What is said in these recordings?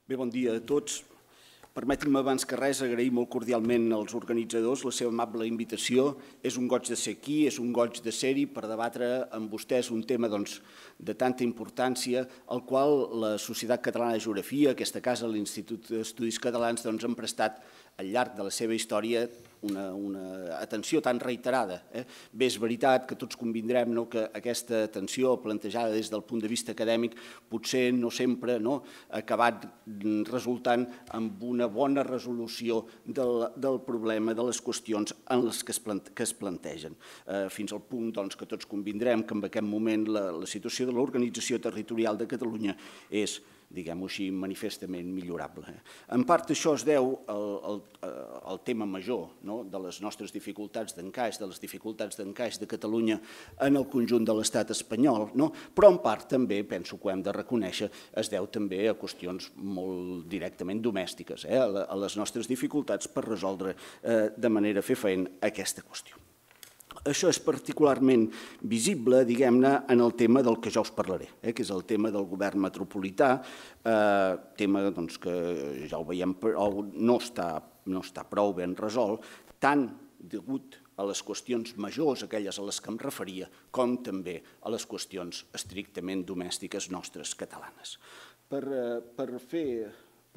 Bé, bon dia a tots. Permetin-me abans que res agrair molt cordialment als organitzadors la seva amable invitació. És un goig de ser aquí, és un goig de ser-hi per debatre amb vostès un tema de tanta importància, al qual la Societat Catalana de Geografia, aquesta casa, l'Institut d'Estudis Catalans, han prestat al llarg de la seva història una atenció tan reiterada. Bé, és veritat que tots convindrem que aquesta atenció plantejada des del punt de vista acadèmic potser no sempre ha acabat resultant en una bona resolució del problema, de les qüestions en les que es plantegen. Fins al punt que tots convindrem que en aquest moment la situació de l'organització territorial de Catalunya és, diguem-ho així, manifestament millorable. En part això es deu al tema major de les nostres dificultats d'encaix, de les dificultats d'encaix de Catalunya en el conjunt de l'estat espanyol, però en part també, penso que ho hem de reconèixer, es deu també a qüestions molt directament domèstiques, a les nostres dificultats per resoldre de manera fefaent aquesta qüestió. Això és particularment visible, diguem-ne, en el tema del que jo us parlaré, que és el tema del govern metropolità, tema que ja ho veiem, no està prou ben resolt, tant degut a les qüestions majors, aquelles a les que em referia, com també a les qüestions estrictament domèstiques nostres catalanes. Per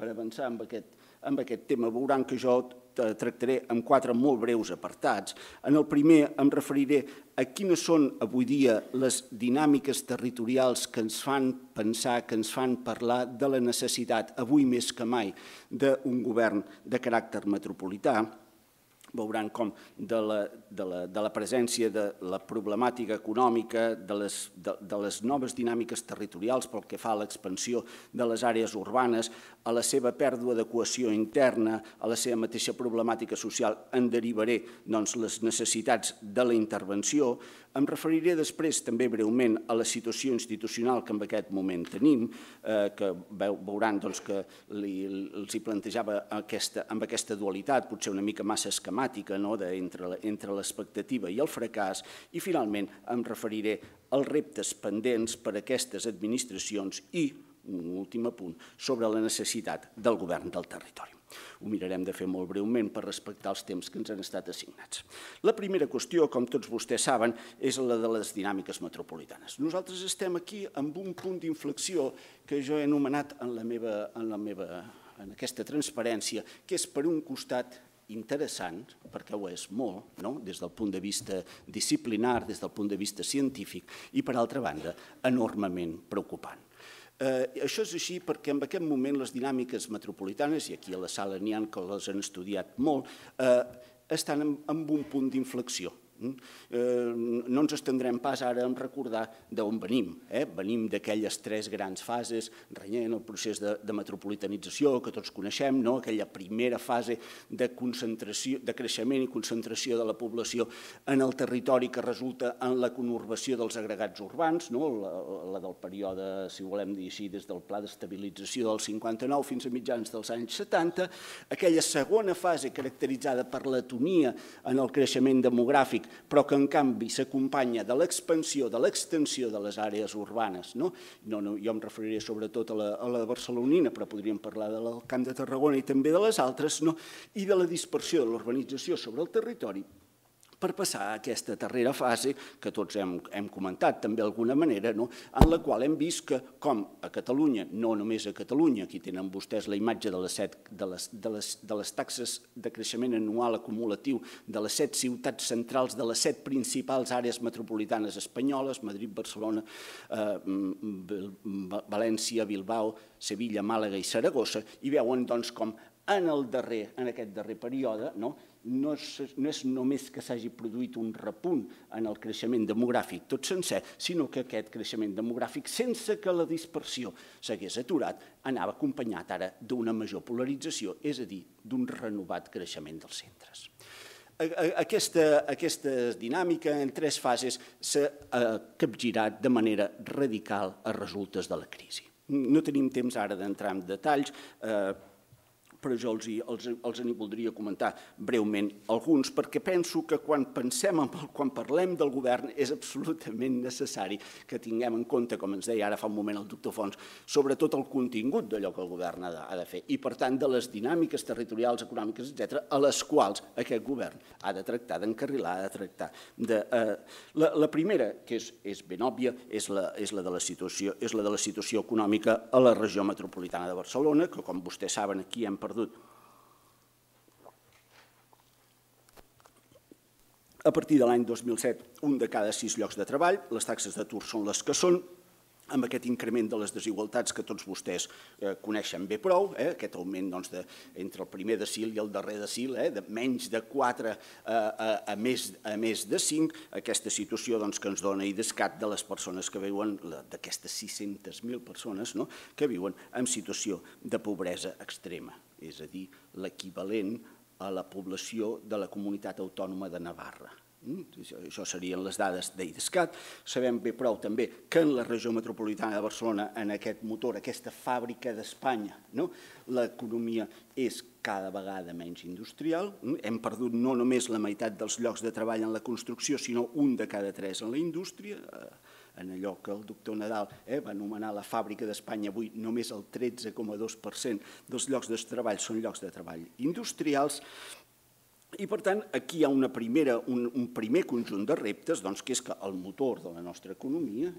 avançar amb aquest tema, veuran que jo tractaré en 4 molt breus apartats. En el primer em referiré a quines són avui dia les dinàmiques territorials que ens fan pensar, que ens fan parlar de la necessitat, avui més que mai, d'un govern de caràcter metropolità. Veuran com de la presència de la problemàtica econòmica, de les noves dinàmiques territorials pel que fa a l'expansió de les àrees urbanes, a la seva pèrdua de cohesió interna, a la seva mateixa problemàtica social, en derivaré les necessitats de la intervenció. Em referiré després també breument a la situació institucional que en aquest moment tenim, que veuran que els hi plantejava amb aquesta dualitat, potser una mica massa esquemàtica entre l'expectativa i el fracàs, i finalment em referiré als reptes pendents per a aquestes administracions i, un últim apunt, sobre la necessitat del govern del territori. Ho mirarem de fer molt breument per respectar els temps que ens han estat assignats. La primera qüestió, com tots vostès saben, és la de les dinàmiques metropolitanes. Nosaltres estem aquí amb un punt d'inflexió que jo he anomenat en aquesta transparència, que és per un costat interessant, perquè ho és molt, des del punt de vista disciplinar, des del punt de vista científic, i per altra banda, enormement preocupant. Això és així perquè en aquest moment les dinàmiques metropolitanes, i aquí a la sala n'hi ha que les han estudiat molt, estan en un punt d'inflexió. No ens estendrem pas ara en recordar d'on venim. Venim d'aquelles 3 grans fases, renyent el procés de metropolitanització que tots coneixem, aquella primera fase de creixement i concentració de la població en el territori que resulta en la conurbació dels agregats urbans, la del període, si ho volem dir així, des del pla d'estabilització del 59 fins a mitjans dels anys 70, aquella segona fase caracteritzada per l'atonia en el creixement demogràfic, però que en canvi s'acompanya de l'expansió, de l'extensió de les àrees urbanes. Jo em referiré sobretot a la barcelonina, però podríem parlar del Camp de Tarragona i també de les altres, i de la dispersió de l'urbanització sobre el territori, per passar a aquesta darrera fase, que tots hem comentat també d'alguna manera, en la qual hem vist que, com a Catalunya, no només a Catalunya, aquí tenen vostès la imatge de les taxes de creixement anual acumulatiu de les 7 ciutats centrals de les 7 principals àrees metropolitanes espanyoles, Madrid, Barcelona, València, Bilbao, Sevilla, Màlaga i Saragossa, i veuen com en aquest darrer període no és només que s'hagi produït un repunt en el creixement demogràfic tot sencer, sinó que aquest creixement demogràfic, sense que la dispersió s'hagués aturat, anava acompanyat ara d'una major polarització, és a dir, d'un renovat creixement dels centres. Aquesta dinàmica en 3 fases s'ha capgirat de manera radical a resultes de la crisi. No tenim temps ara d'entrar en detalls, però jo els n'hi voldria comentar breument alguns, perquè penso que quan parlem del govern és absolutament necessari que tinguem en compte, com ens deia ara fa un moment el doctor Fons, sobretot el contingut d'allò que el govern ha de fer i, per tant, de les dinàmiques territorials, econòmiques, etc., a les quals aquest govern ha de tractar d'encarrilar, ha de tractar de... La primera, que és ben òbvia, és la de la situació econòmica a la regió metropolitana de Barcelona, que, com vostès saben, aquí hem perdut. A partir de l'any 2007, un de cada 6 llocs de treball, les taxes d'atur són les que són, amb aquest increment de les desigualtats que tots vostès coneixen bé prou, aquest augment entre el primer decil i el darrer decil, de menys de 4 a més de 5, aquesta situació que ens dona IDESCAT de les persones que viuen, d'aquestes 600.000 persones que viuen en situació de pobresa extrema, és a dir, l'equivalent a la població de la comunitat autònoma de Navarra. Això serien les dades d'IDESCAT. Sabem bé prou també que en la regió metropolitana de Barcelona, en aquest motor, aquesta fàbrica d'Espanya, l'economia és cada vegada menys industrial. Hem perdut no només la meitat dels llocs de treball en la construcció, sinó un de cada 3 en la indústria. En allò que el doctor Nadal va anomenar la fàbrica d'Espanya, avui només el 13,2% dels llocs de treball són llocs de treball industrials. I, per tant, aquí hi ha un primer conjunt de reptes, que és que el motor de la nostra economia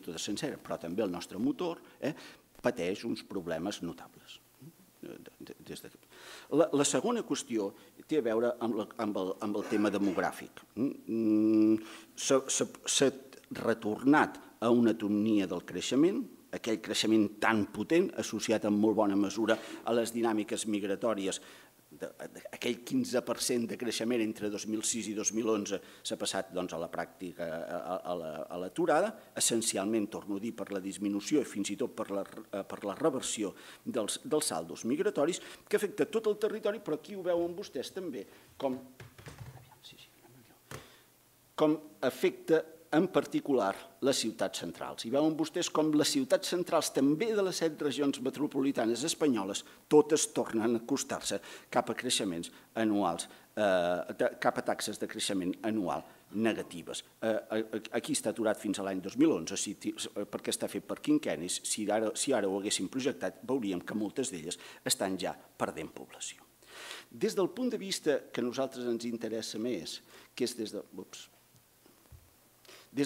tota sencera, però també el nostre motor, pateix uns problemes notables. La segona qüestió té a veure amb el tema demogràfic. S'ha retornat a una atonia del creixement, aquell creixement tan potent, associat en molt bona mesura a les dinàmiques migratòries. Aquell 15% de creixement entre 2006 i 2011 s'ha passat a la pràctica, a l'aturada, essencialment, torno a dir, per la disminució i fins i tot per la reversió dels saldos migratoris, que afecta tot el territori, però aquí ho veuen vostès també, com afecta en particular les ciutats centrals. I veuen vostès com les ciutats centrals, també de les 7 regions metropolitanes espanyoles, totes tornen a acostar-se cap a creixements anuals, cap a taxes de creixement anual negatives. Aquí està aturat fins a l'any 2011, perquè està fet per quinquennis. Si ara ho haguéssim projectat, veuríem que moltes d'elles estan ja perdent població. Des del punt de vista que a nosaltres ens interessa més, que és des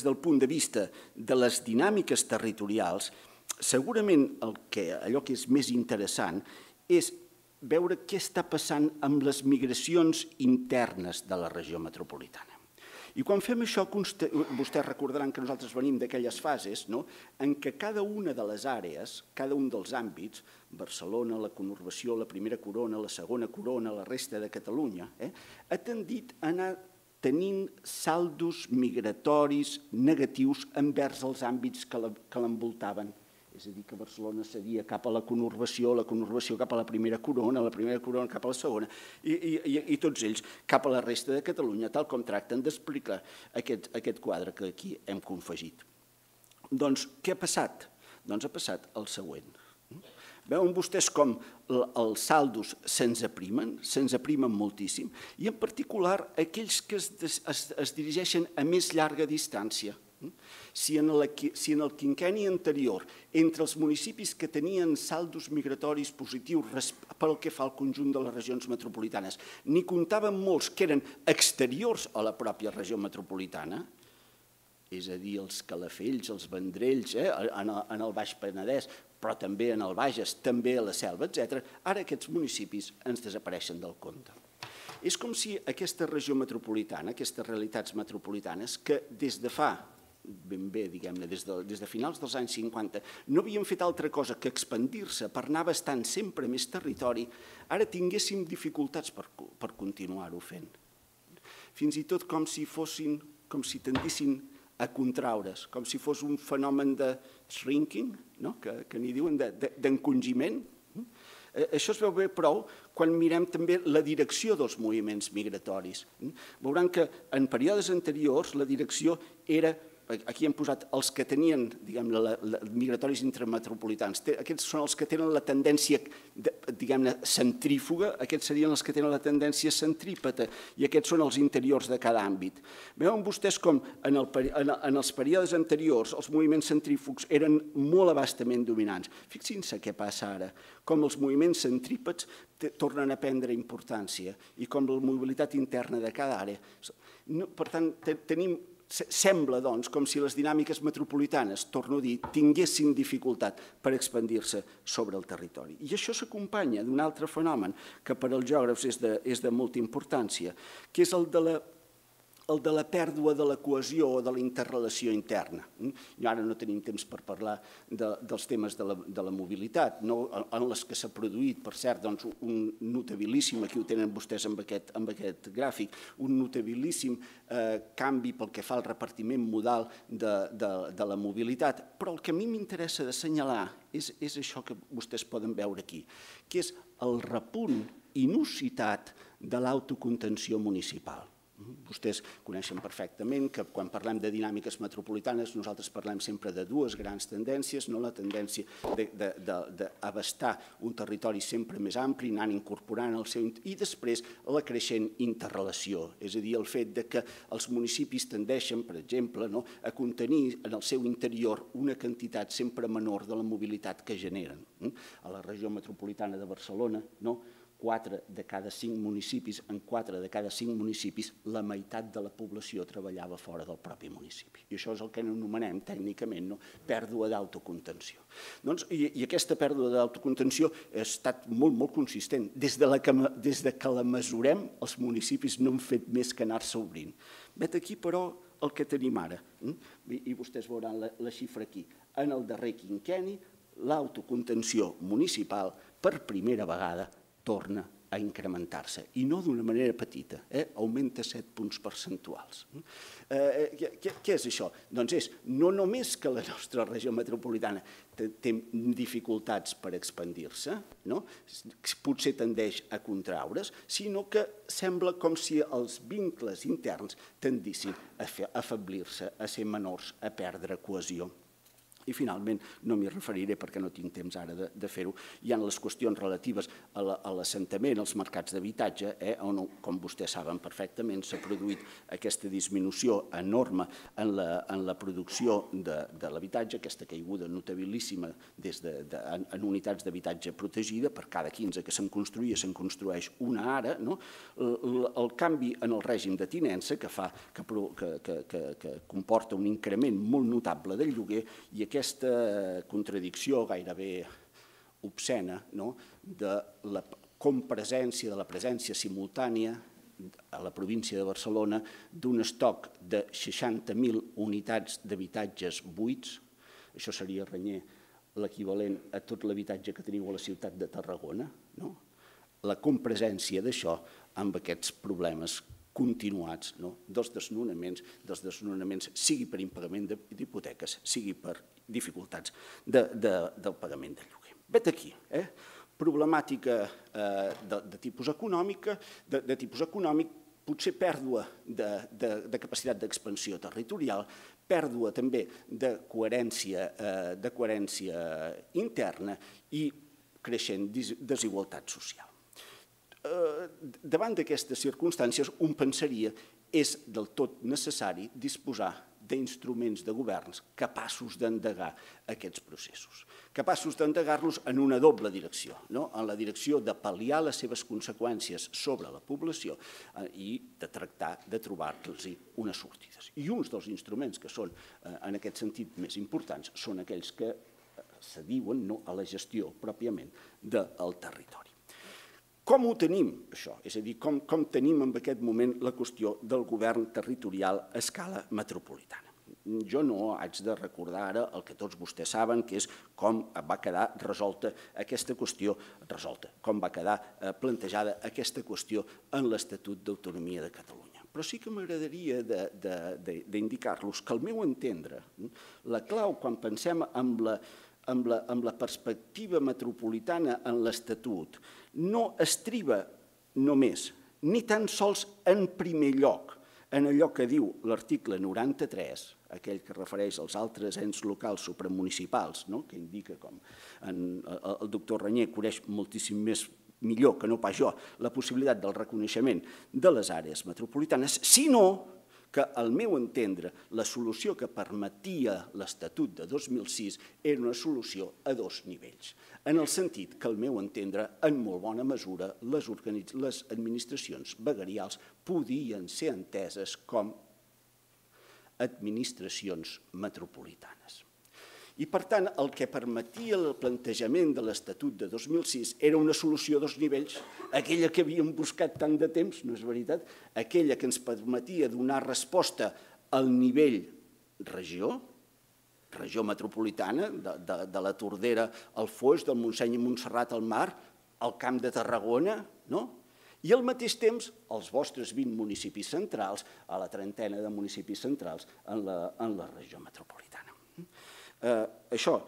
del punt de vista de les dinàmiques territorials, segurament allò que és més interessant és veure què està passant amb les migracions internes de la regió metropolitana. I quan fem això, vostès recordaran que nosaltres venim d'aquelles fases en què cada una de les àrees, cada un dels àmbits, Barcelona, la conurbació, la primera corona, la segona corona, la resta de Catalunya, ha tendit a anar tenint saldos migratoris negatius envers els àmbits que l'envoltaven. És a dir, que Barcelona cedia cap a la conurbació cap a la primera corona cap a la segona, i tots ells cap a la resta de Catalunya, tal com tracten d'explicar aquest quadre que aquí hem confegit. Doncs què ha passat? Doncs ha passat el següent. Veuen vostès com els saldos se'ns aprimen moltíssim, i en particular aquells que es dirigeixen a més llarga distància. Si en el quinquenni anterior, entre els municipis que tenien saldos migratoris positius pel que fa al conjunt de les regions metropolitanes, n'hi comptaven molts que eren exteriors a la pròpia regió metropolitana, és a dir, els Calafells, els Vendrells, en el Baix Penedès, però també en el Bages, també a la Selva, etc., ara aquests municipis ens desapareixen del compte. És com si aquesta regió metropolitana, aquestes realitats metropolitanes, que des de fa, ben bé, diguem-ne, des de finals dels anys 50, no havien fet altra cosa que expandir-se per anar bastant sempre més territori, ara tinguéssim dificultats per continuar-ho fent. Fins i tot com si tendissin a contraure's, com si fos un fenomen de shrinking, que n'hi diuen d'encongiment. Això es veu bé prou quan mirem també la direcció dels moviments migratoris. Veuran que en períodes anteriors la direcció era aquí hem posat els que tenien, diguem-ne, migratoris intrametropolitans. Aquests són els que tenen la tendència, diguem-ne, centrífuga, aquests serien els que tenen la tendència centrípeta, i aquests són els interiors de cada àmbit. Veuen vostès com en els períodes anteriors els moviments centrífugs eren molt abastament dominants. Fixin-se què passa ara, com els moviments centrípets tornen a prendre importància i com la mobilitat interna de cada àrea. Per tant, sembla, doncs, com si les dinàmiques metropolitanes, torno a dir, tinguessin dificultat per expandir-se sobre el territori. I això s'acompanya d'un altre fenomen que per als geògrafs és de molta importància, que és el de la pèrdua de la cohesió o de la interrelació interna. I ara no tenim temps per parlar dels temes de la mobilitat, en les que s'ha produït, per cert, un notabilíssim, aquí ho tenen vostès amb aquest gràfic, un notabilíssim canvi pel que fa al repartiment modal de la mobilitat, però el que a mi m'interessa d'assenyalar és això que vostès poden veure aquí, que és el repunt inusitat de l'autocontenció municipal. Vostès coneixen perfectament que quan parlem de dinàmiques metropolitanes nosaltres parlem sempre de dues grans tendències, la tendència d'abastar un territori sempre més ampli, anant incorporant el seu... i després la creixent interrelació, és a dir, el fet que els municipis tendeixen, per exemple, a contenir en el seu interior una quantitat sempre menor de la mobilitat que generen. A la regió metropolitana de Barcelona, 4 de cada 5 municipis, en 4 de cada 5 municipis, la meitat de la població treballava fora del propi municipi. I això és el que anomenem tècnicament pèrdua d'autocontenció. I aquesta pèrdua d'autocontenció ha estat molt, molt consistent. Des que la mesurem, els municipis no han fet més que anar-se obrint. Vet aquí, però, el que tenim ara. I vostès veuran la xifra aquí. En el darrer quinquenni, l'autocontenció municipal, per primera vegada, torna a incrementar-se, i no d'una manera petita, augmenta 7 punts percentuals. Què és això? Doncs és no només que la nostra regió metropolitana té dificultats per expandir-se, potser tendeix a contraure's, sinó que sembla com si els vincles interns tendissin a afeblir-se, a ser menors, a perdre cohesió. I finalment, no m'hi referiré perquè no tinc temps ara de fer-ho, hi ha les qüestions relatives a l'assentament, als mercats d'habitatge, on, com vostès saben perfectament, s'ha produït aquesta disminució enorme en la producció de l'habitatge, aquesta caiguda notabilíssima en unitats d'habitatge protegida, per cada 15 que se'n construïa, se'n construeix una ara, el canvi en el règim de tinença que comporta un increment molt notable del lloguer i aquesta contradicció gairebé obscena de la compresència, de la presència simultània a la província de Barcelona d'un estoc de 60.000 unitats d'habitatges buits, això seria renyer l'equivalent a tot l'habitatge que teniu a la ciutat de Tarragona, la compresència d'això amb aquests problemes continuats dels desnonaments, sigui per impagament d'hipoteques, sigui per dificultats del pagament de lloguer. Vet aquí, problemàtica de tipus econòmic, potser pèrdua de capacitat d'expansió territorial, pèrdua també de coherència interna i creixent desigualtat social. Davant d'aquestes circumstàncies, un pensaria és del tot necessari disposar d'instruments de governs capaços d'endegar aquests processos, capaços d'endegar-los en una doble direcció, en la direcció de pal·liar les seves conseqüències sobre la població i de tractar de trobar-los unes sortides. I uns dels instruments que són en aquest sentit més importants són aquells que s'adiuen a la gestió pròpiament del territori. Com ho tenim, això? És a dir, com tenim en aquest moment la qüestió del govern territorial a escala metropolitana? Jo no haig de recordar ara el que tots vostès saben, que és com va quedar resolta aquesta qüestió, com va quedar plantejada aquesta qüestió en l'Estatut d'Autonomia de Catalunya. Però sí que m'agradaria d'indicar-los que, al meu entendre, la clau quan pensem en la perspectiva metropolitana en l'Estatut no estriba només, ni tan sols en primer lloc, en allò que diu l'article 93, aquell que refereix als altres ens locals supramunicipals, que indica, com el doctor Reñé coneix moltíssim millor que no pas jo, la possibilitat del reconeixement de les àrees metropolitanes, sinó que, al meu entendre, la solució que permetia l'Estatut de 2006 era una solució a dos nivells, en el sentit que, al meu entendre, en molt bona mesura, les administracions veguerials podien ser enteses com administracions metropolitanes. I, per tant, el que permetia el plantejament de l'Estatut de 2006 era una solució a dos nivells, aquella que havíem buscat tant de temps, no és veritat? Aquella que ens permetia donar resposta al nivell regió metropolitana, de la Tordera al Foix, del Montseny i Montserrat al Mar, al Camp de Tarragona, i al mateix temps els vostres 20 municipis centrals, a la trentena de municipis centrals en la regió metropolitana. Això,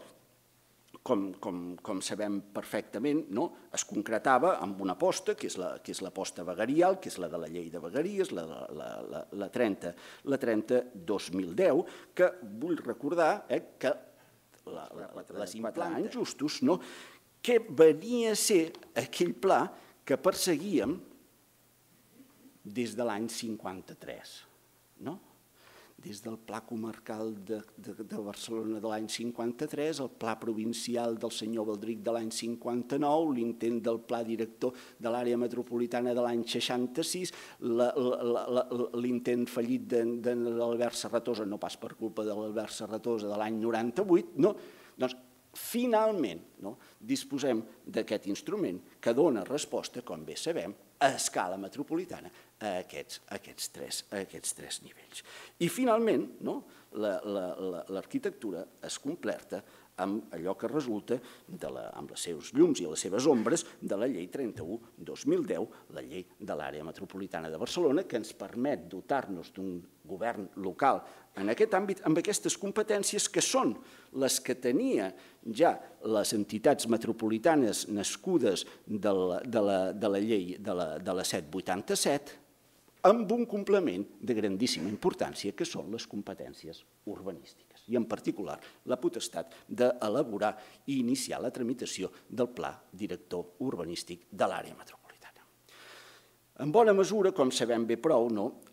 com sabem perfectament, es concretava amb una aposta, que és l'aposta veguerial, que és la de la llei de vegueries, la 30-2010, que vull recordar que les implantant justos, que venia a ser aquell pla que perseguíem des de l'any 53, des del Pla Comarcal de Barcelona de l'any 53, el Pla Provincial del senyor Baldric de l'any 59, l'intent del Pla Director de l'Àrea Metropolitana de l'any 66, l'intent fallit de l'Albert Serratosa, no pas per culpa de l'Albert Serratosa, de l'any 98, doncs finalment disposem d'aquest instrument que dona resposta, com bé sabem, a escala metropolitana a aquests tres nivells. I finalment l'arquitectura es completa amb allò que resulta, amb els seus llums i les seves ombres, de la llei 31/2010, la llei de l'àrea metropolitana de Barcelona, que ens permet dotar-nos d'un govern local en aquest àmbit, amb aquestes competències que són les que tenia ja les entitats metropolitanes nascudes de la llei de la 787, amb un complement de grandíssima importància, que són les competències urbanístiques, i en particular la potestat d'elaborar i iniciar la tramitació del Pla Director Urbanístic de l'àrea metropolitana. En bona mesura, com sabem bé prou,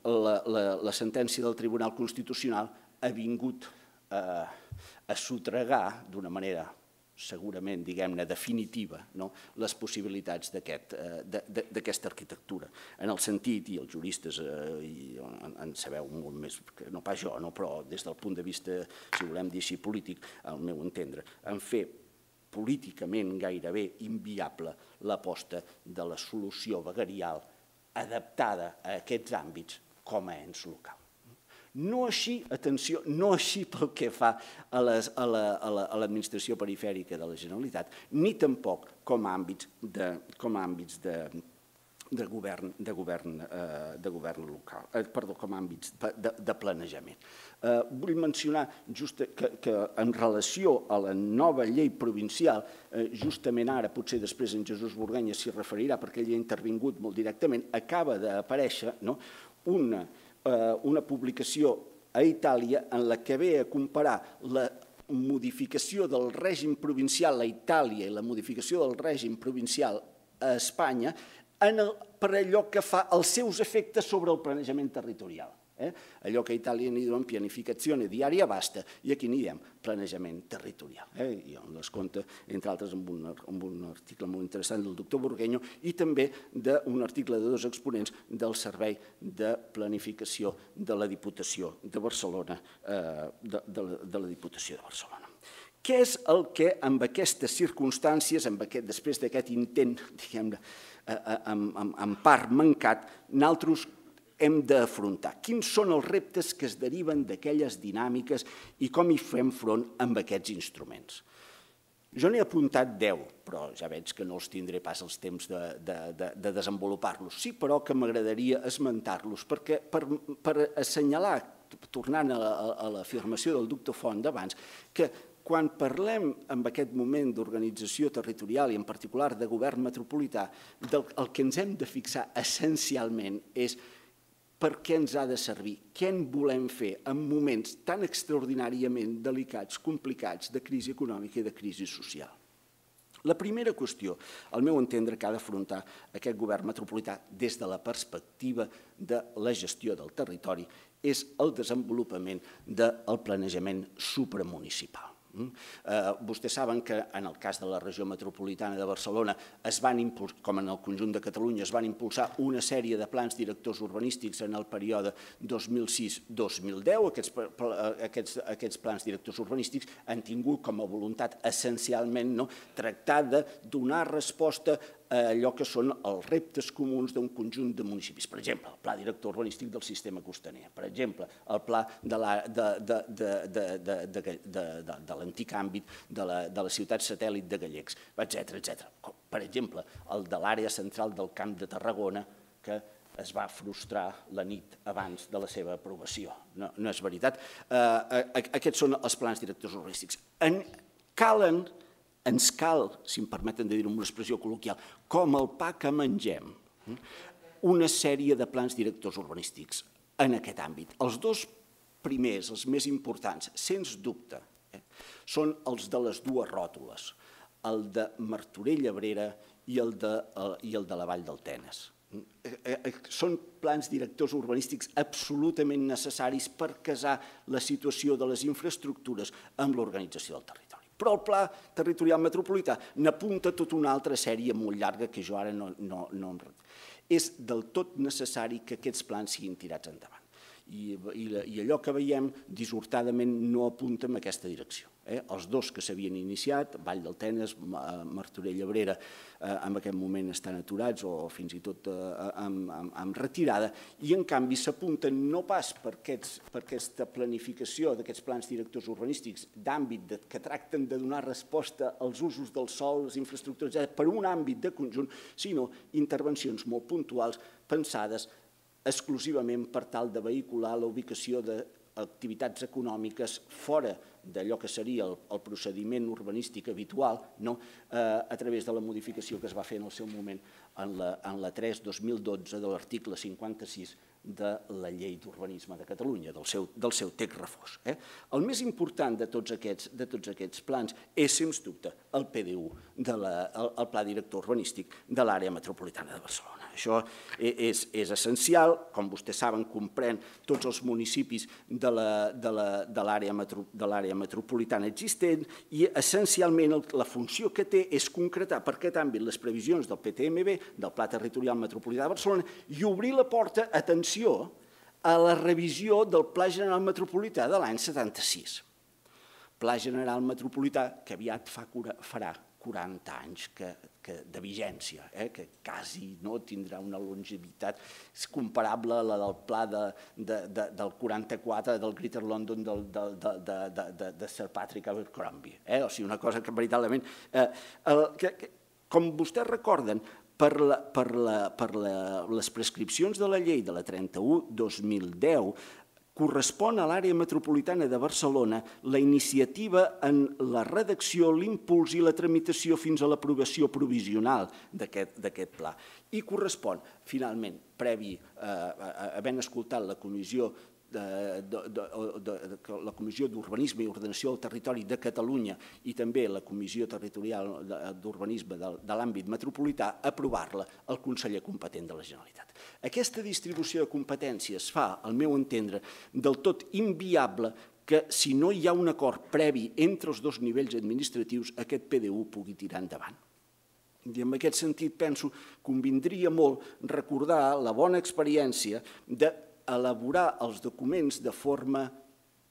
la sentència del Tribunal Constitucional ha vingut a sotregar d'una manera segurament, diguem-ne, definitiva, les possibilitats d'aquesta arquitectura. En el sentit, i els juristes en sabeu molt més, no pas jo, però des del punt de vista, si volem dir així, polític, al meu entendre, en fer políticament gairebé inviable l'aposta de la solució veguerial adaptada a aquests àmbits com a ens local. No així, atenció, no així pel que fa a l'administració perifèrica de la Generalitat, ni tampoc com a àmbits de govern local, perdó, com a àmbits de planejament. Vull mencionar que en relació a la nova llei provincial, justament ara, potser després en Jesús Burgueña s'hi referirà perquè ell hi ha intervingut molt directament, acaba d'aparèixer una publicació a Itàlia en la que ve a comparar la modificació del règim provincial a Itàlia i la modificació del règim provincial a Espanya per allò que fa els seus efectes sobre el planejament territorial. Allò que a Itàlia n'hi diuen pianificazione di area vasta i aquí n'hi diem planejament territorial. I on les compta, entre altres, amb un article molt interessant del doctor Burgueño i també d'un article de dos exponents del Servei de Planificació de la Diputació de Barcelona. Què és el que, amb aquestes circumstàncies, després d'aquest intent, diguem-ne, en part mancat, nosaltres hem d'afrontar? Quins són els reptes que es deriven d'aquelles dinàmiques i com hi fem front amb aquests instruments? Jo n'he apuntat 10, però ja veig que no els tindré pas els temps de desenvolupar-los. Sí, però que m'agradaria esmentar-los, perquè per assenyalar, tornant a l'afirmació del doctor Font d'abans, que quan parlem en aquest moment d'organització territorial i en particular de govern metropolità, el que ens hem de fixar essencialment és per què ens ha de servir, què en volem fer en moments tan extraordinàriament delicats, complicats, de crisi econòmica i de crisi social. La primera qüestió, al meu entendre, que ha d'afrontar aquest govern metropolità des de la perspectiva de la gestió del territori és el desenvolupament del planejament supramunicipal. Vostès saben que en el cas de la regió metropolitana de Barcelona, com en el conjunt de Catalunya, es van impulsar una sèrie de plans directors urbanístics en el període 2006-2010. Aquests plans directors urbanístics han tingut com a voluntat essencialment tractar de donar resposta a allò que són els reptes comuns d'un conjunt de municipis. Per exemple, el pla director urbanístic del sistema costaner, per exemple, el pla de l'antic àmbit de la ciutat satèl·lit de Gallecs, etc. Per exemple, el de l'àrea central del Camp de Tarragona, que es va frustrar la nit abans de la seva aprovació. No és veritat. Aquests són els plans directors urbanístics. Ens cal, si em permeten de dir-ho amb una expressió col·loquial, com el pa que mengem, una sèrie de plans directors urbanístics en aquest àmbit. Els dos primers, els més importants, sens dubte, són els de les dues ròtules, el de Martorell-Abrera i el de la Vall del Tenes. Són plans directors urbanístics absolutament necessaris per casar la situació de les infraestructures amb l'organització del territori. Però el Pla Territorial Metropolità n'apunta tota una altra sèrie molt llarga que jo ara no... És del tot necessari que aquests plans siguin tirats endavant. I allò que veiem dissortadament no apunta en aquesta direcció. Els dos que s'havien iniciat, Vall del Tenes, Martorell-Abrera, en aquest moment estan aturats o fins i tot en retirada, i en canvi s'apunten no pas per aquesta planificació d'aquests plans directors urbanístics d'àmbit que tracten de donar resposta als usos del sòl, les infraestructures, per un àmbit de conjunt, sinó intervencions molt puntuals pensades exclusivament per tal de vehicular la ubicació d'activitats econòmiques fora d'allò que seria el procediment urbanístic habitual, a través de la modificació que es va fer en el seu moment en la 3/2012 de l'article 56 de la Llei d'Urbanisme de Catalunya, del seu text refós. El més important de tots aquests plans és, sens dubte, el PDU, el Pla Director Urbanístic de l'Àrea Metropolitana de Barcelona. Això és essencial, com vostès saben, comprèn tots els municipis de l'àrea metropolitana existent i, essencialment, la funció que té és concretar per aquest àmbit les previsions del PTMB, del Pla Territorial Metropolità de Barcelona, i obrir la porta, atenció, a la revisió del Pla General Metropolità de l'any 76. Pla General Metropolità que aviat farà 40 anys de vigència, que quasi no tindrà una longevitat comparable a la del pla del 44 del Greater London de Sir Patrick Abercrombie. O sigui, una cosa que veritablement... Com vostès recorden, per les prescripcions de la llei de la 31/2010, correspon a l'àrea metropolitana de Barcelona la iniciativa en la redacció, l'impuls i la tramitació fins a l'aprovació provisional d'aquest pla. I correspon, finalment, previ, havent escoltat la Comissió d'Urbanisme i Ordenació del Territori de Catalunya i també la Comissió Territorial d'Urbanisme de l'àmbit metropolità, aprovar-la el conseller competent de la Generalitat. Aquesta distribució de competències fa, al meu entendre, del tot inviable que, si no hi ha un acord previ entre els dos nivells administratius, aquest PDU pugui tirar endavant. I en aquest sentit penso que convindria molt recordar la bona experiència d'elaborar els documents de forma,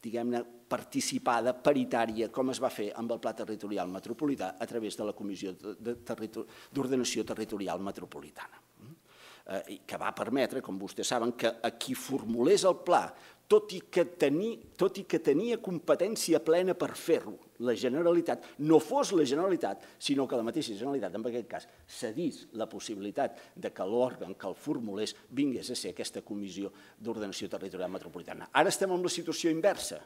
diguem-ne, participada, paritària, com es va fer amb el Pla Territorial Metropolità a través de la Comissió d'Ordenació Territorial Metropolitana, que va permetre, com vostès saben, que a qui formulés el pla tot i que tenia competència plena per fer-ho, la Generalitat, no fos la Generalitat, sinó que la mateixa Generalitat, en aquest cas, cedís la possibilitat que l'òrgan que el formulés vingués a ser aquesta Comissió d'Ordenació Territorial Metropolitana. Ara estem en la situació inversa.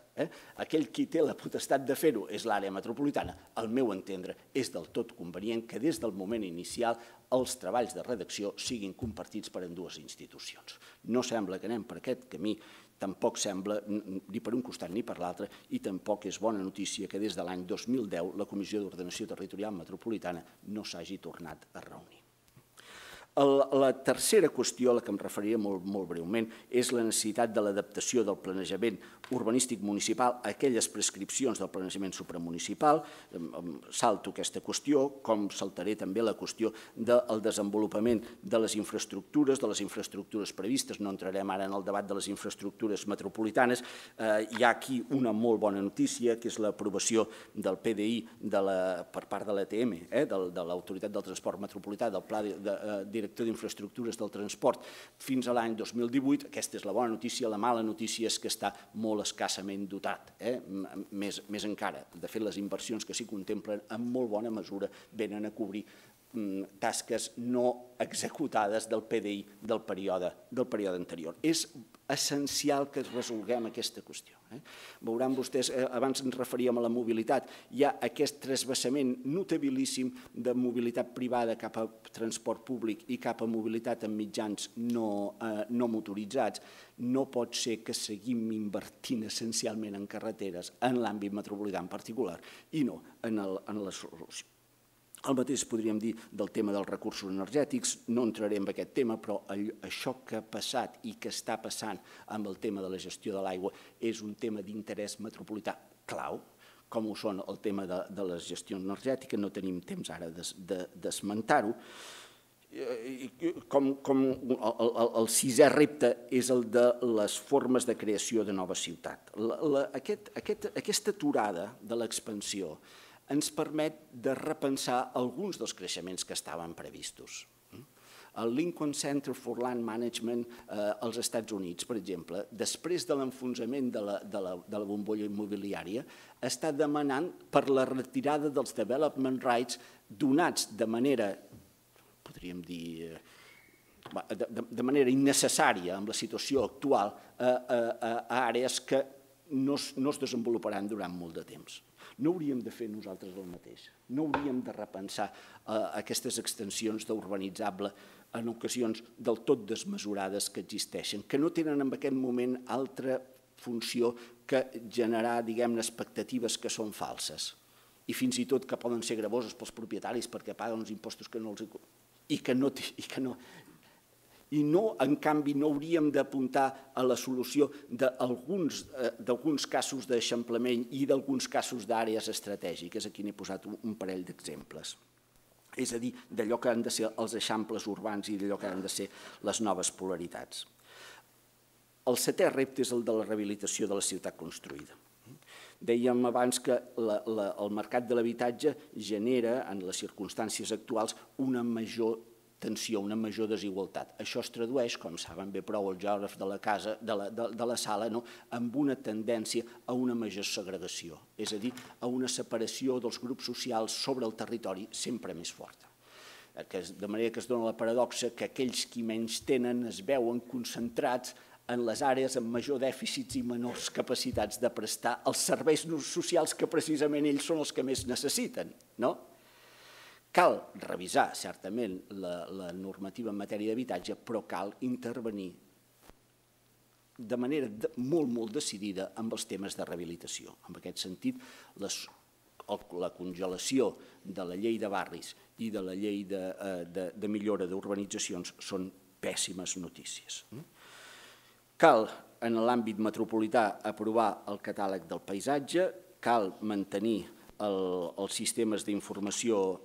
Aquell qui té la potestat de fer-ho és l'àrea metropolitana. Al meu entendre, és del tot convenient que des del moment inicial els treballs de redacció siguin compartits per ambdues institucions. No sembla que anem per aquest camí, tampoc sembla ni per un costat ni per l'altre, i tampoc és bona notícia que des de l'any 2010 la Comissió d'Ordenació Territorial Metropolitana no s'hagi tornat a reunir. La tercera qüestió a la que em referiré molt breument és la necessitat de l'adaptació del planejament urbanístic municipal a aquelles prescripcions del planejament supramunicipal. Salto aquesta qüestió, com saltaré també la qüestió del desenvolupament de les infraestructures previstes. No entrarem ara en el debat de les infraestructures metropolitanes. Hi ha aquí una molt bona notícia, que és l'aprovació del PDI per part de l'ATM, de l'Autoritat del Transport Metropolità, del Pla Director d'Infraestructures del Transport, fins a l'any 2018. Aquesta és la bona notícia. La mala notícia és que està molt escassament dotat, més encara. De fet, les inversions que s'hi contemplen en molt bona mesura venen a cobrir tasques no executades del PDI del període anterior. És essencial que resolguem aquesta qüestió. Veuran vostès, abans ens referíem a la mobilitat, hi ha aquest transvasament notabilíssim de mobilitat privada cap a transport públic i cap a mobilitat en mitjans no motoritzats. No pot ser que seguim invertint essencialment en carreteres en l'àmbit metropolità en particular i no en la solució. El mateix podríem dir del tema dels recursos energètics. No entraré en aquest tema, però això que ha passat i que està passant amb el tema de la gestió de l'aigua és un tema d'interès metropolità clau, com ho són el tema de la gestió energètica. No tenim temps ara d'esmentar-ho. El sisè repte és el de les formes de creació de nova ciutat. Aquesta aturada de l'expansió ens permet de repensar alguns dels creixements que estaven previstos. El Lincoln Center for Land Management als Estats Units, per exemple, després de l'enfonsament de la bombolla immobiliària, està demanant per la retirada dels development rights donats de manera, podríem dir, de manera innecessària amb la situació actual a àrees que no es desenvoluparan durant molt de temps. No hauríem de fer nosaltres el mateix. No hauríem de repensar aquestes extensions d'urbanitzable en ocasions del tot desmesurades que existeixen, que no tenen en aquest moment altra funció que generar, diguem-ne, expectatives que són falses i fins i tot que poden ser gravoses pels propietaris perquè paguen uns impostos que no els... I no, en canvi, no hauríem d'apuntar a la solució d'alguns casos d'eixamplament i d'alguns casos d'àrees estratègiques. Aquí n'he posat un parell d'exemples. És a dir, d'allò que han de ser els eixamples urbans i d'allò que han de ser les noves polaritats. El setè repte és el de la rehabilitació de la ciutat construïda. Dèiem abans que el mercat de l'habitatge genera, en les circumstàncies actuals, una major tensió, una major desigualtat. Això es tradueix, com saben bé prou el geògraf de la sala, amb una tendència a una major segregació, és a dir, a una separació dels grups socials sobre el territori sempre més forta. De manera que es dona la paradoxa que aquells qui menys tenen es veuen concentrats en les àrees amb major dèficits i menors capacitats de prestar els serveis socials que precisament ells són els que més necessiten, no? Cal revisar, certament, la normativa en matèria d'habitatge, però cal intervenir de manera molt decidida amb els temes de rehabilitació. En aquest sentit, la congelació de la llei de barris i de la llei de millora d'urbanitzacions són pèssimes notícies. Cal, en l'àmbit metropolità, aprovar el catàleg del paisatge, cal mantenir els sistemes d'informació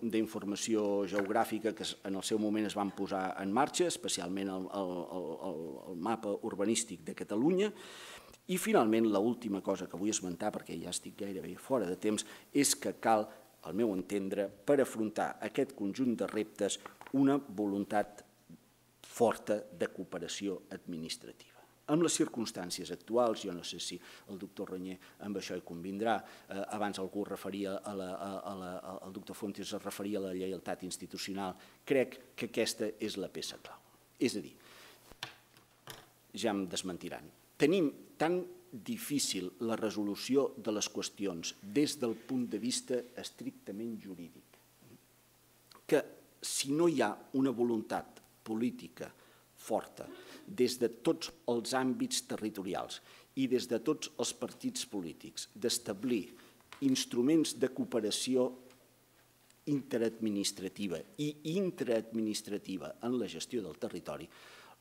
geogràfica que en el seu moment es van posar en marxa, especialment el mapa urbanístic de Catalunya. I finalment, l'última cosa que vull esmentar, perquè ja estic gairebé fora de temps, és que cal, al meu entendre, per afrontar aquest conjunt de reptes, una voluntat forta de cooperació administrativa. Amb les circumstàncies actuals, jo no sé si el doctor Reñé amb això hi convindrà, abans algú referia, el doctor Fontes es referia a la lleialtat institucional, crec que aquesta és la peça clau. És a dir, ja em desmentiran, tenim tan difícil la resolució de les qüestions des del punt de vista estrictament jurídic que si no hi ha una voluntat política forta des de tots els àmbits territorials i des de tots els partits polítics d'establir instruments de cooperació interadministrativa i intraadministrativa en la gestió del territori,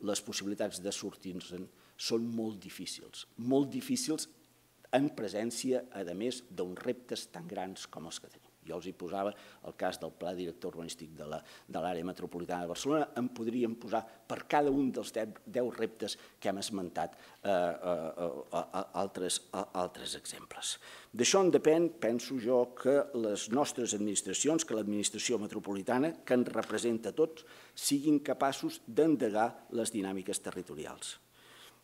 les possibilitats de sortir-se'n són molt difícils en presència, a més, d'uns reptes tan grans com els que tenim. Jo els hi posava el cas del Pla Director Urbanístic de l'àrea metropolitana de Barcelona, en podríem posar per cada un dels 10 reptes que hem esmentat altres exemples. D'això en depèn, penso jo, que les nostres administracions, que l'administració metropolitana, que ens representa a tots, siguin capaços d'endegar les dinàmiques territorials.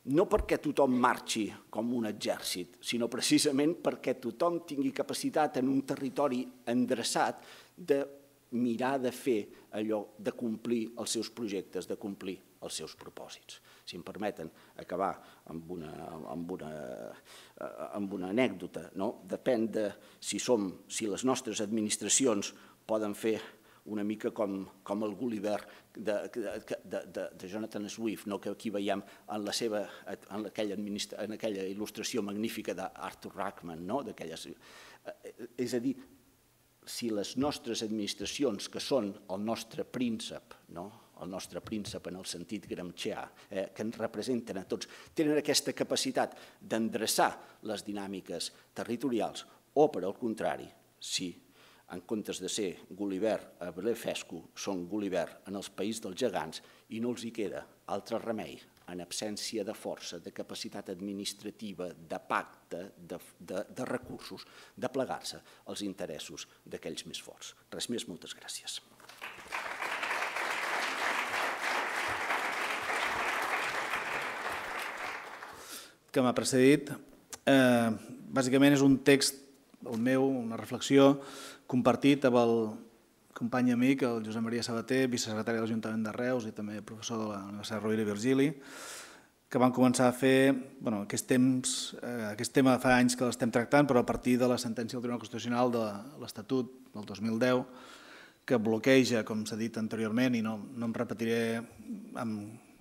No perquè tothom marxi com un exèrcit, sinó precisament perquè tothom tingui capacitat en un territori endreçat de mirar de fer allò, de complir els seus projectes, de complir els seus propòsits. Si em permeten acabar amb una anècdota, depèn de si les nostres administracions poden fer una mica com el Gulliver de Jonathan Swift, que aquí veiem en aquella il·lustració magnífica d'Arthur Rachman. És a dir, si les nostres administracions, que són el nostre príncep, en el sentit gramscià, que ens representen a tots, tenen aquesta capacitat d'endreçar les dinàmiques territorials, o, per al contrari, si en comptes de ser Gulliver a Blefuscu, són Gulliver en els països dels gegants i no els hi queda altre remei, en absència de força, de capacitat administrativa, de pacte, de recursos, de plegar-se als interessos d'aquells més forts. Res més, moltes gràcies. Que m'ha precedit, bàsicament és un text, el meu, una reflexió, compartit amb el company i amic, el Josep Maria Sabater, vicesecretari de l'Ajuntament de Reus i també professor de la Universitat Rovira i Virgili, que van començar a fer aquest tema fa anys que l'estem tractant, però a partir de la sentència del Tribunal Constitucional de l'Estatut del 2010, que bloqueja, com s'ha dit anteriorment, i no em repetiré amb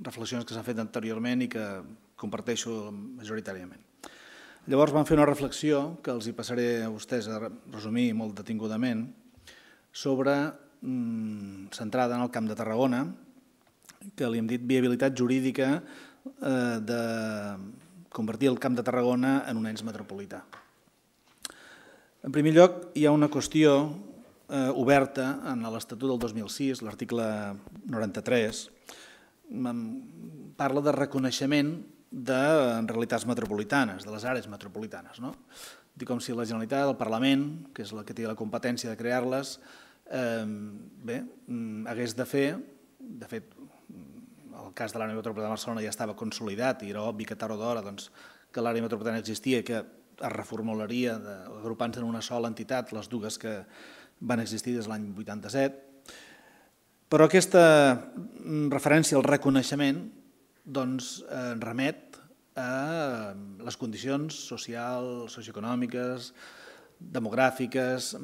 reflexions que s'han fet anteriorment i que comparteixo majoritàriament. Llavors van fer una reflexió que els hi passaré a vostès a resumir molt detingudament centrada en el Camp de Tarragona, que li hem dit viabilitat jurídica de convertir el Camp de Tarragona en un ens metropolità. En primer lloc, hi ha una qüestió oberta en l'Estatut del 2006, l'article 93, parla de reconeixement de realitats metropolitanes, de les àrees metropolitanes. Dic com si la Generalitat, el Parlament, que és la que té la competència de crear-les, hagués de fer, de fet, el cas de l'àrea metropolitana de Barcelona ja estava consolidat i era obvi que tard o d'hora que l'àrea metropolitana existia i que es reformularia agrupant-se en una sola entitat, les dues que van existir des de l'any 87. Però aquesta referència al reconeixement remet a les condicions socials, socioeconòmiques, demogràfiques,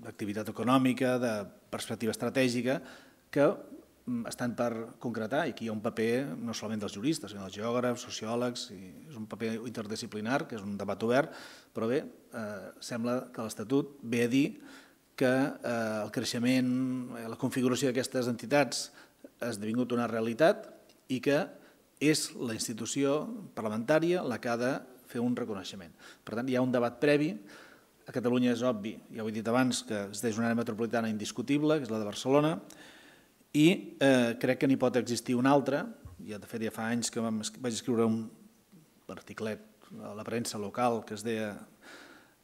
d'activitat econòmica, de perspectiva estratègica, que estan per concretar, i aquí hi ha un paper no solament dels juristes, sinó dels geògrafs, sociòlegs, és un paper interdisciplinar, que és un debat obert, però bé, sembla que l'Estatut ve a dir que el creixement, la configuració d'aquestes entitats ha esdevingut una realitat i que és la institució parlamentària la que ha de fer un reconeixement. Per tant, hi ha un debat previ. A Catalunya és obvi, ja ho he dit abans, que existeix una àrea metropolitana indiscutible, que és la de Barcelona, i crec que n'hi pot existir una altra. De fet, ja fa anys que vaig escriure un articlet a la premsa local que es deia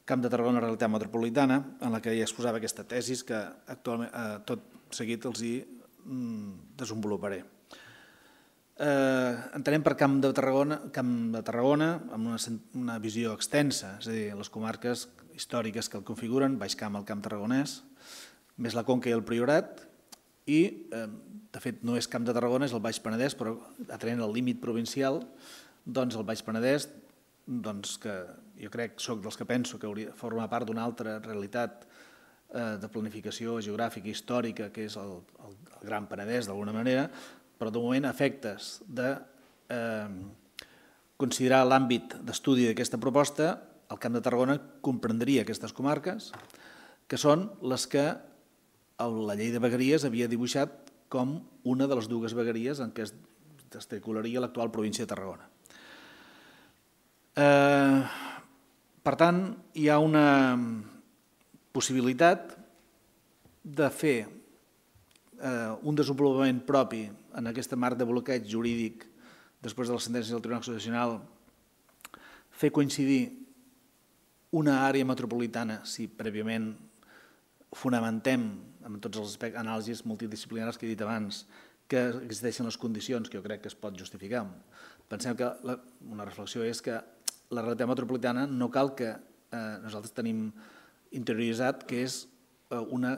Camp de Tarragona, realitat metropolitana, en la que ja exposava aquesta tesi que actualment tot seguit els hi desenvoluparé. entenem per Camp de Tarragona amb una visió extensa, és a dir, les comarques històriques que el configuren, Baix Camp, el Camp Tarragonès, més la Conca i el Priorat, i, de fet, no és Camp de Tarragona, és el Baix Penedès, però atenent al límit provincial, doncs el Baix Penedès, que jo crec, soc dels que penso que hauria de formar part d'una altra realitat de planificació geogràfica i històrica, que és el Gran Penedès, d'alguna manera, però de moment, a efectes de considerar l'àmbit d'estudi d'aquesta proposta, el Camp de Tarragona comprendria aquestes comarques, que són les que la llei de vegueries havia dibuixat com una de les dues vegueries en què es desarticularia l'actual província de Tarragona. Per tant, hi ha una possibilitat de fer un desenvolupament propi en aquesta marc de bloqueig jurídic després de les sentències del Tribunal Constitucional, fer coincidir una àrea metropolitana, si prèviament fonamentem amb tots els anàlisis multidisciplinaris que he dit abans, que existeixen les condicions que jo crec que es pot justificar. Pensem que una reflexió és que la realitat metropolitana no cal que nosaltres tenim interioritzat que és una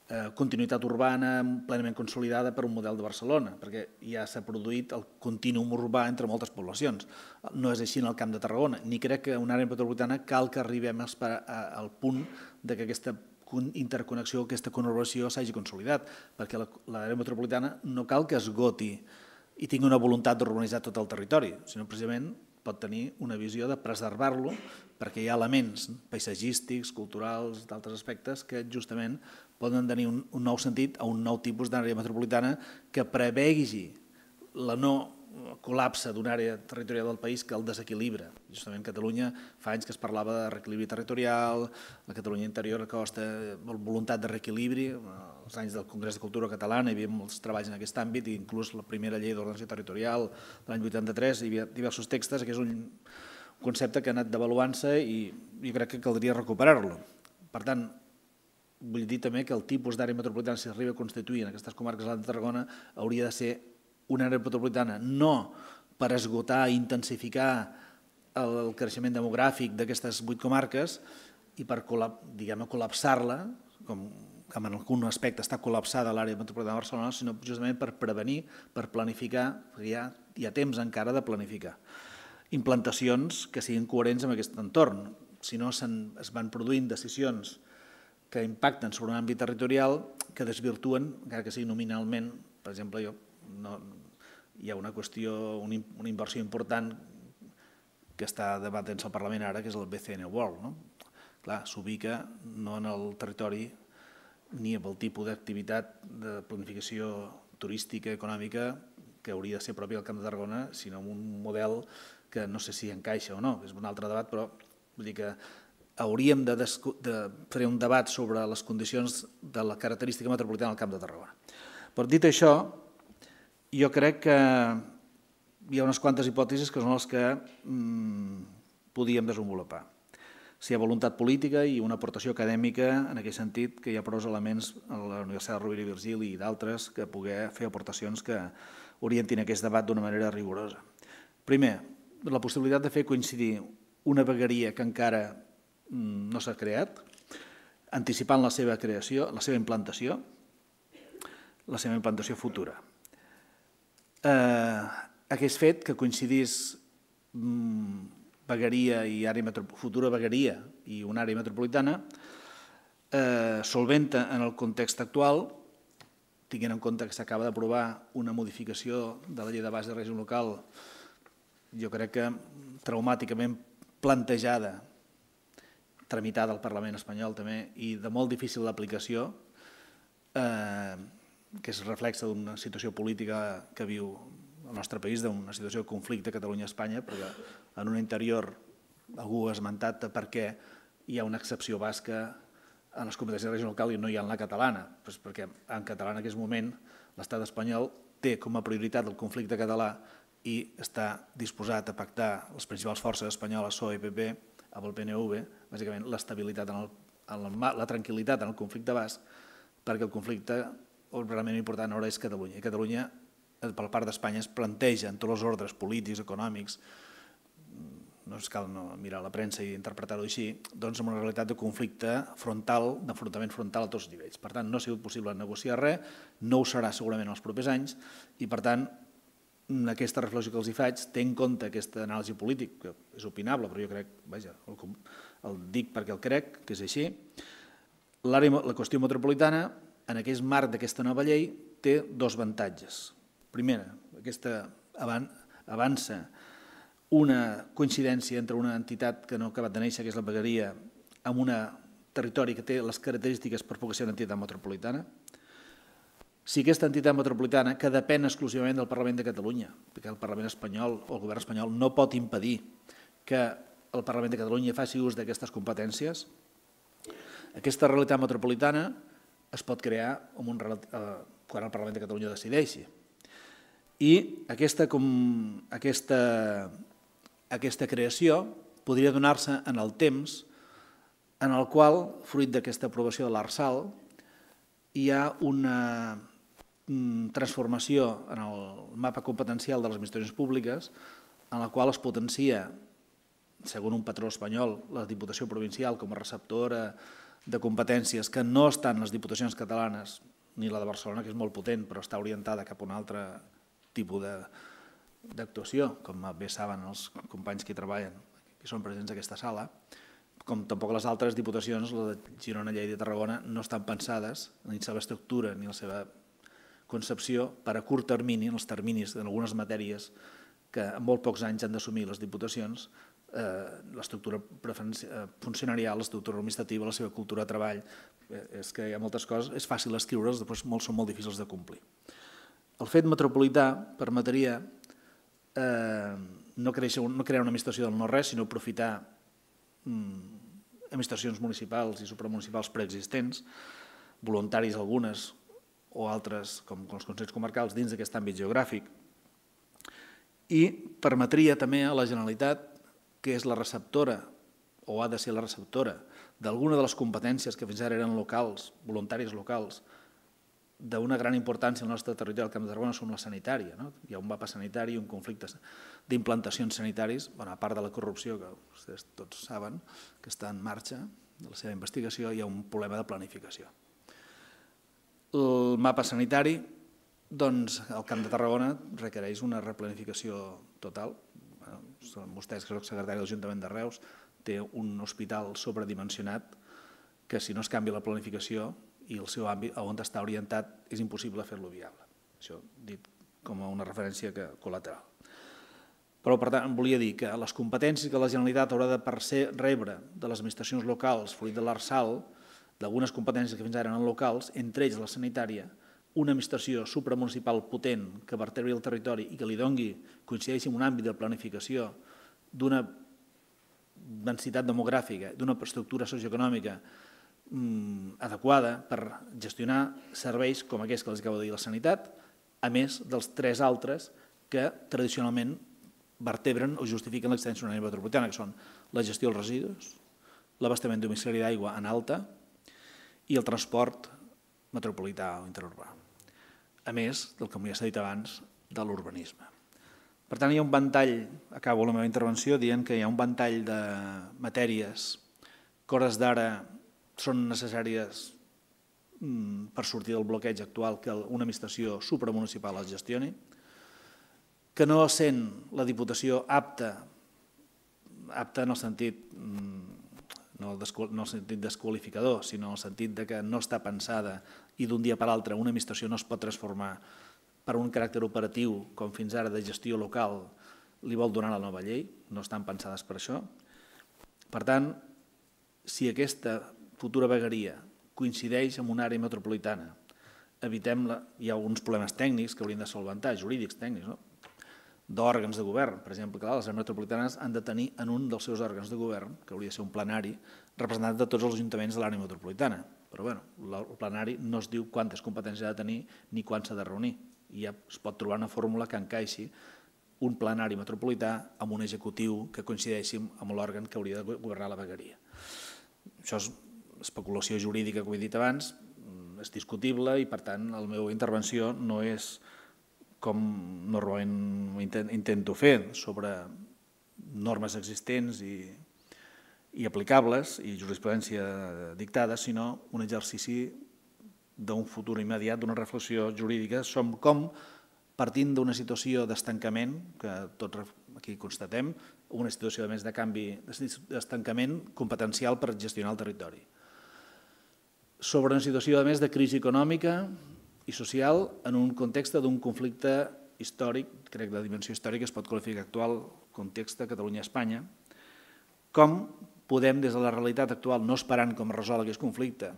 continuïtat urbana plenament consolidada per un model de Barcelona, perquè ja s'ha produït el contínuum urbà entre moltes poblacions. No és així en el Camp de Tarragona, ni crec que una àrea metropolitana cal que arribem al punt que aquesta interconnexió, aquesta conurbació s'hagi consolidat, perquè l'àrea metropolitana no cal que esgoti i tingui una voluntat d'urbanitzar tot el territori, sinó precisament pot tenir una visió de preservar-lo perquè hi ha elements paisatgístics, culturals, d'altres aspectes que justament poden tenir un nou sentit a un nou tipus d'àrea metropolitana que prevegi la no col·lapse d'una àrea territorial del país que el desequilibra. Justament Catalunya fa anys que es parlava de reequilibri territorial, la Catalunya interior, la costa, voluntat de reequilibri. Als anys del Congrés de Cultura Catalana hi havia molts treballs en aquest àmbit, i inclús la primera llei d'ordenació territorial de l'any 83, hi havia diversos textos, que és un concepte que ha anat devaluant-se i jo crec que caldria recuperar-lo. Per tant, vull dir també que el tipus d'àrea metropolitana, si arriba a constituir en aquestes comarques de Tarragona, hauria de ser una àrea metropolitana no per esgotar i intensificar el creixement demogràfic d'aquestes 8 comarques i per col·lapsar-la, com en algun aspecte està col·lapsada l'àrea metropolitana de Barcelona, sinó justament per prevenir, per planificar, perquè hi ha temps encara de planificar implantacions que siguin coherents amb aquest entorn. Si no, es van produint decisions que impacten sobre un àmbit territorial que desvirtuen, encara que sigui nominalment. Per exemple, hi ha una qüestió, una inversió important que està debatent-se al Parlament ara, que és el BCN World. Clar, s'ubica no en el territori ni amb el tipus d'activitat de planificació turística, econòmica, que hauria de ser propi del Camp de Tarragona, sinó amb un model que no sé si encaixa o no, és un altre debat, però vull dir que hauríem de fer un debat sobre les condicions de la característica metropolitana del Camp de Tarragona. Però dit això, jo crec que hi ha unes quantes hipòtesis que són les que podíem desenvolupar. Si hi ha voluntat política i una aportació acadèmica, en aquest sentit, que hi ha prou elements a la Universitat de Rovira i Virgili i d'altres que poder fer aportacions que orientin aquest debat d'una manera rigorosa. Primer, la possibilitat de fer coincidir una vegueria que encara no s'ha creat, anticipant la seva creació, la seva implantació futura. Aquest fet que coincidís vegueria i futura vegueria i una àrea metropolitana solventa en el context actual, tinguent en compte que s'acaba d'aprovar una modificació de la llei de base de règim local, jo crec que traumàticament plantejada, tramitada al Parlament espanyol també, i de molt difícil d'aplicació, que es reflexa d'una situació política que viu el nostre país, d'una situació de conflicte Catalunya-Espanya, perquè en un interior algú ha esmentat per què hi ha una excepció basca en les competències de règim local i no hi ha en la catalana, perquè en català en aquest moment l'estat espanyol té com a prioritat el conflicte català i està disposat a pactar les principals forces espanyoles, PSOE i PP, amb el PNV, bàsicament l'estabilitat, la tranquil·litat en el conflicte basc, perquè el conflicte realment important ara és Catalunya. I Catalunya per part d'Espanya es planteja en tots els ordres polítics, econòmics, no es cal mirar la premsa i interpretar-ho així, doncs amb una realitat de conflicte frontal, d'enfrontament frontal a tots els nivells. Per tant, no ha sigut possible negociar res, no ho serà segurament en els propers anys, i per tant, aquesta reflexió que els hi faig té en compte aquesta anàlisi política, que és opinable, però jo crec, vaja, el dic perquè el crec, que és així. La qüestió metropolitana, en aquest marc d'aquesta nova llei, té dos avantatges. Primera, aquesta avança una coincidència entre una entitat que no ha acabat de néixer, que és la vegueria, amb un territori que té les característiques per poder ser una entitat metropolitana. Si aquesta entitat metropolitana, que depèn exclusivament del Parlament de Catalunya, perquè el Parlament espanyol o el govern espanyol no pot impedir que el Parlament de Catalunya faci ús d'aquestes competències, aquesta realitat metropolitana es pot crear quan el Parlament de Catalunya decideixi. I aquesta creació podria donar-se en el temps en el qual, fruit d'aquesta aprovació de l'Arsal, hi ha una transformació en el mapa competencial de les administracions públiques en la qual es potencia, segons un patró espanyol, la Diputació Provincial com a receptora de competències que no estan les diputacions catalanes, ni la de Barcelona, que és molt potent, però està orientada cap a un altre tipus d'actuació, com bé saben els companys que hi treballen, que són presents en aquesta sala, com tampoc les altres diputacions, la de Girona, Lleida i Tarragona, no estan pensades ni la seva estructura ni la seva concepció per a curt termini, en els terminis d'algunes matèries que en molt pocs anys han d'assumir les diputacions, l'estructura funcionarial, l'estructura administrativa, la seva cultura de treball. És que hi ha moltes coses, és fàcil escriure'ls, després són molt difícils de complir. El fet metropolità permetria no crear una administració del no-res, sinó aprofitar administracions municipals i supramunicipals preexistents, voluntaris algunes o altres, com els consells comarcals, dins d'aquest àmbit geogràfic, i permetria també a la Generalitat, que és la receptora, o ha de ser la receptora, d'alguna de les competències que fins ara eren locals, voluntaris locals, d'una gran importància al nostre territori del Camp de Tarragona som la sanitària. Hi ha un mapa sanitari i un conflicte d'implantacions sanitaris, a part de la corrupció, que vostès tots saben que està en marxa, de la seva investigació, hi ha un problema de planificació. El mapa sanitari, doncs, al Camp de Tarragona requereix una replanificació total. Vostès, que soc secretari de l'Ajuntament de Reus, té un hospital sobredimensionat que si no es canvia la planificació i el seu àmbit on està orientat és impossible fer-lo viable. Això dit com a una referència col·lateral. Però, per tant, volia dir que les competències que la Generalitat haurà de rebre de les administracions locals, fruit de l'Arsal, d'algunes competències que fins ara eren locals, entre ells la sanitària, una administració supramunicipal potent que vertebri el territori i que li doni, coincideixi en un àmbit de planificació d'una densitat demogràfica, d'una estructura socioeconòmica adequada per gestionar serveis com aquests que els acabo de dir, la sanitat, a més dels tres altres que tradicionalment vertebren o justifiquen l'existència d'una àrea metropolitana, que són la gestió dels residus, l'abastament domiciliari d'aigua en alta i el transport metropolità o interurbà, a més del que ja s'ha dit abans, de l'urbanisme. Per tant, hi ha un ventall, acabo la meva intervenció dient que hi ha un ventall de matèries que a hores d'ara són necessàries per sortir del bloqueig actual que una administració supramunicipal les gestioni, que no sent la Diputació apta en el sentit, no en el sentit desqualificador, sinó en el sentit que no està pensada i d'un dia per l'altre una administració no es pot transformar per un caràcter operatiu com fins ara de gestió local li vol donar la nova llei, no estan pensades per això. Per tant, si aquesta futura vegueria coincideix amb una àrea metropolitana, evitem-la, hi ha alguns problemes tècnics que haurien de solventar, jurídics tècnics, d'òrgans de govern. Per exemple, les àrees metropolitanes han de tenir en un dels seus òrgans de govern, que hauria de ser un plenari, representant de tots els ajuntaments de l'àrea metropolitana. Però bé, el plenari no es diu quantes competències ha de tenir ni quan s'ha de reunir. I ja es pot trobar una fórmula que encaixi un plenari metropolità amb un executiu que coincideixi amb l'òrgan que hauria de governar la vegueria. Això és especulació jurídica, com he dit abans, és discutible i, per tant, la meva intervenció no és com normalment intento fer, sobre normes existents i aplicables i jurisprudència dictada, sinó un exercici d'un futur immediat, d'una reflexió jurídica, com partint d'una situació d'estancament, que tots aquí constatem, una situació a més de canvi, d'estancament competencial per gestionar el territori. Sobre una situació a més de crisi econòmica i social en un context d'un conflicte històric, crec que la dimensió històrica es pot qualificar actual, context de Catalunya-Espanya, com podem, des de la realitat actual, no esperant com es resol aquest conflicte,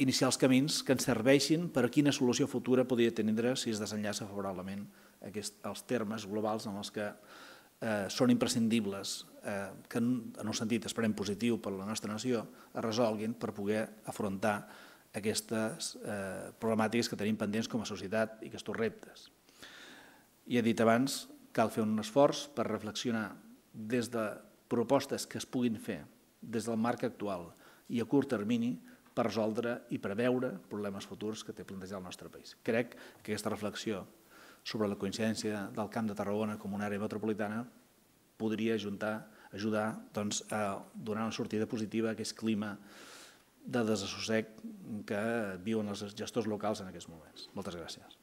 iniciar els camins que ens serveixin per a quina solució futura podria tenir si es desenllaça favorablement els termes globals en els que són imprescindibles, que en un sentit esperem positiu per a la nostra nació, es resolguin per poder afrontar aquestes problemàtiques que tenim pendents com a societat i aquests reptes. I he dit abans, cal fer un esforç per reflexionar des de propostes que es puguin fer des del marc actual i a curt termini per resoldre i preveure problemes futurs que té plantejat el nostre país. Crec que aquesta reflexió sobre la coincidència del Camp de Tarragona com una àrea metropolitana podria ajudar a donar una sortida positiva a aquest clima de desassossec que viuen els gestors locals en aquests moments. Moltes gràcies.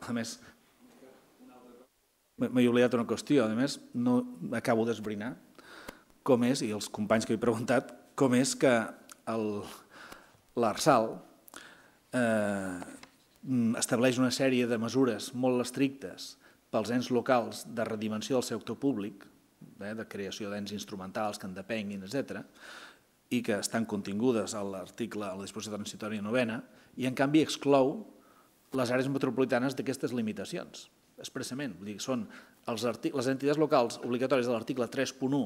A més, m'he oblidat una qüestió, a més, no acabo d'esbrinar com és, i els companys que he preguntat, com és que l'Arsal estableix una sèrie de mesures molt estrictes pels ens locals de redimensió del sector públic, de creació d'ens instrumentals que en depenguin, etc., i que estan contingudes a l'article, a la disposició transitòria 9ª, i en canvi exclou les àrees metropolitanes d'aquestes limitacions, expressament. Són les entitats locals obligatòries de l'article 3.1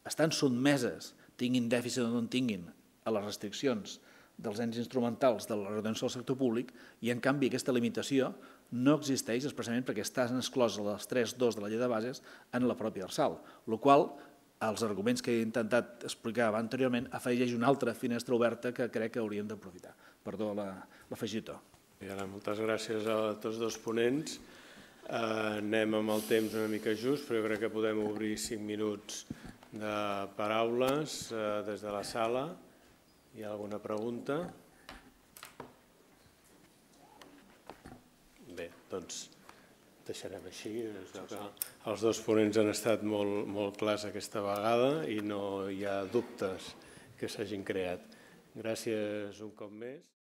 estan sotmeses, tinguin dèficit o no en tinguin, a les restriccions dels ens instrumentals de la retenció del sector públic i, en canvi, aquesta limitació no existeix expressament perquè estan excloses les 3.2 de la llei de bases en la pròpia Arsal, el qual, als arguments que he intentat explicar anteriorment, afegeix una altra finestra oberta que crec que hauríem d'aprofitar. Perdó l'afegitó. Moltes gràcies a tots dos ponents. Anem amb el temps una mica just, però jo crec que podem obrir 5 minuts de paraules des de la sala. Hi ha alguna pregunta? Bé, doncs deixarem així. Els dos ponents han estat molt clars aquesta vegada i no hi ha dubtes que s'hagin creat. Gràcies un cop més.